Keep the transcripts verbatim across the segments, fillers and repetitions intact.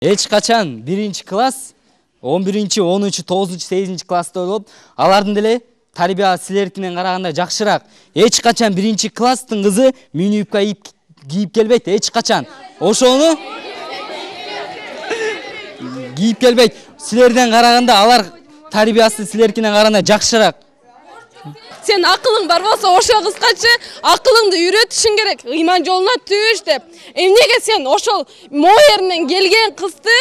эч качан биринчи класс, он биринчи, онунчу, тогузунчу, сегизинчи класста болуп, алардын деле тарбия силердикинен караганда жакшыраак. Эч качан биринчи класстын кызы мини юбка кийип келбейт, эч качан. Ошону кийип келбейт. Силерден караганда алар тарбиясы силердикинен караганда жакшыраак. Сен акылың бар болсо, ошо кызгачы акылыңды үйрөтүшүң керек. Ыйман жолуна түш деп. Эмнеге сен ошол моеринен келген кызды,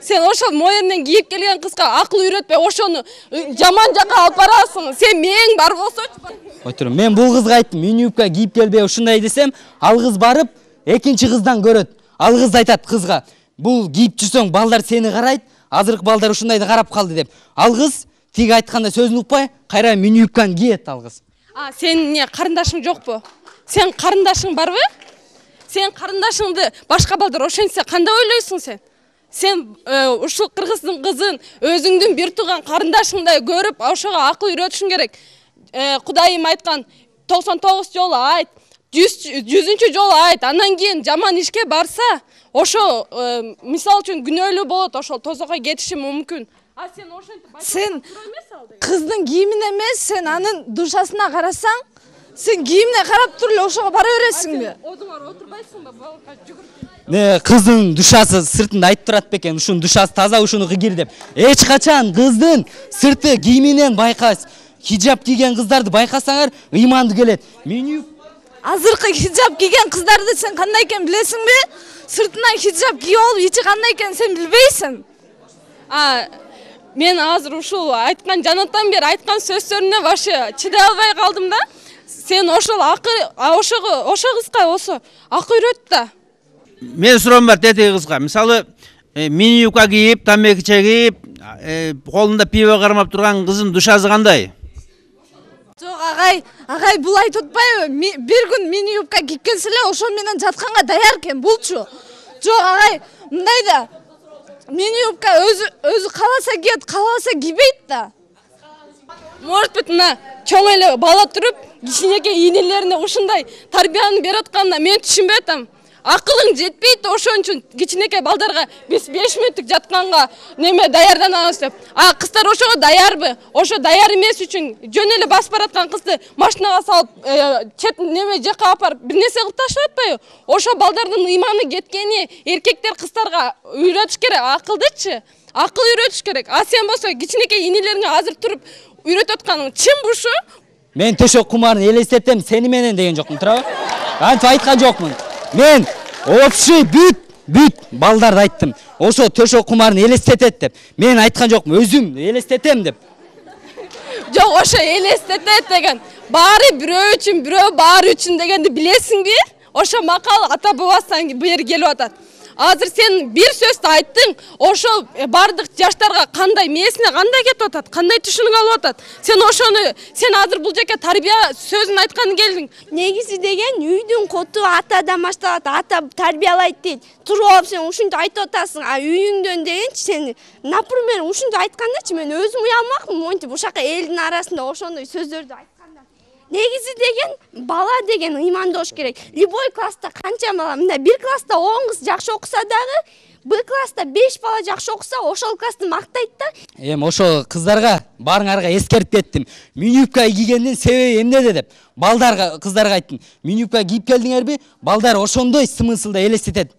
сен ошол моеринен кийип келген кызга акыл үйрөтпөй, ошону жаман жакка алып барасың. Сен мээң бар болсочу. Ой тур, мен бул кызга айттым, мини юбка кийип келбей ушундай десем, ал кыз барып экинчи кыздан көрөт. Ал кыз айтат кызга, бул кийип жүрсөң балдар сени карайт, азыркы балдар ушундайды карап калды деп. Ал кыз тиги айтканда сөзүн укпай, кайра мини юбканы кийет ал кыз. А, сен эмне карындашың жокпу? Сен карындашың барбы? Сен карындашыңды башка балдар ошентсе кандай ойлойсуң сен? Сен ушул кыргыздын кызын өзүңдүн бир тууган карындашыңдай көрүп, ошого акыл үйрөтүшүң керек. Кудайым айткан токсон тогуз жолу айт, жүзүнчү жолу айт, андан кийин жаман ишке барса, ошо мисал үчүн күнөөлүү болот, ошол тозокко кетиши мүмкүн. А сен ошентип сен кыздын кийимине эмес, сен анын душасына карасаң, сен кийимине карап туруп эле ошого бара бересиңби? Одуңар отурбайсыңбы? Балка жүгүрүп. Не, кыздын душасы сыртында айтып турат бекен, ушунун душасы таза, ушуну кыгир деп. Эч качан кыздын сырты кийиминен байкайсыз. Хижап кийген кыздарды байкасаңар, ыйманды келет. Мени азыркы хижап кийген кыздарды сен кандай экенин билесиңби? Сыртынан хижап кийип алып, ичи кандай экенин сен билбейсиң. А, мен азыр ушул айткан жанатан бери айткан сөздөрүнө вообще чыдай албай калдым да. Сен ошол акы, ошого, ошо кызга осо акы үйрөт да. Мен суроом бар тетиги кызга. Мисалы, мини юбка кийип, тамеки чегип, колунда пиво кармап турган кыздын душасы кандай? Жок, агай, агай бул айтып атпайбы? Бир күн мини юбка кийип келсе эле ошо менен жатканга даяр экен булчу. Жок, агай, мындай да. Мини юбка өзү өзү кааласа кийет, каалабаса кийбейт да. Может быть, мына чоң эле бала туруп, кичинекей инелерине ушундай тарбияны берип атканда мен түшүнбөй атам. Акылың жетпейт, ошон үчүн кичинекей балдарга биз беш мүнөттүк жатканга неме даярданабыз деп. А кыздар ошого даярбы? Ошо даяр эмес үчүн жөн эле басып бараткан кызды машинага салып, чет неме жакка алып барып бир нерсе кылып таштап атпайбы? Ошо балдардын ыйманы кеткени эркектер кыздарга үйрөтүш керек, акылдычы. Акыл үйрөтүш керек. А сен болсо кичинекей инелериңе азыр туруп үйрөтүп атканың чынбы ушу? Мен төшөк кумарын элестетем, сени менен деген жокмун, туурабы? Антип айткан жокмун. Мен опший бүт бүт балдарды айттым. Ошо төшөк кумарын элестетет деп. Мен айткан жокмун, өзүм элестетем деп. Жок, ошо элестетет деген. Баары бирөө үчүн, бирөө баары үчүн дегенди билесиңби? Ошо макал ата бабасынан бери келип атат. Азыр сен бир сөздү айттың, ошол бардык жаштарга кандай мээсине кандай кетип атат, кандай түшүнүк алып атат. Сен ошону, сен азыр бул жака тарбия сөзүн айтканы келдиң. Негизи деген үйдүн коту атадан башталат, ата тарбиялайт дейт. Туруп алып сен ушинтип айтып атасың, а үйүңдөн дегенчи сен, например, ушинтип айткандачы мен өзүм уялмакмын, монтип ушака элдин арасында ошондой сөздөрдү айтканда. Негизи деген бала деген ыймандуу болуш керек. Любой класста канча бала, мындай бир класста он кыз жакшы окуса дагы, бир класста беш бала жакшы окуса, ошол классты мактайт да. Эми ошол кыздарга баарыңарга эскертип кеттим. Мини юбка кийгендин себеби эмнеде деп. Балдарга, кыздарга айттым. Мини юбка кийип келдиңерби? Балдар ошондой смыслда элестетет.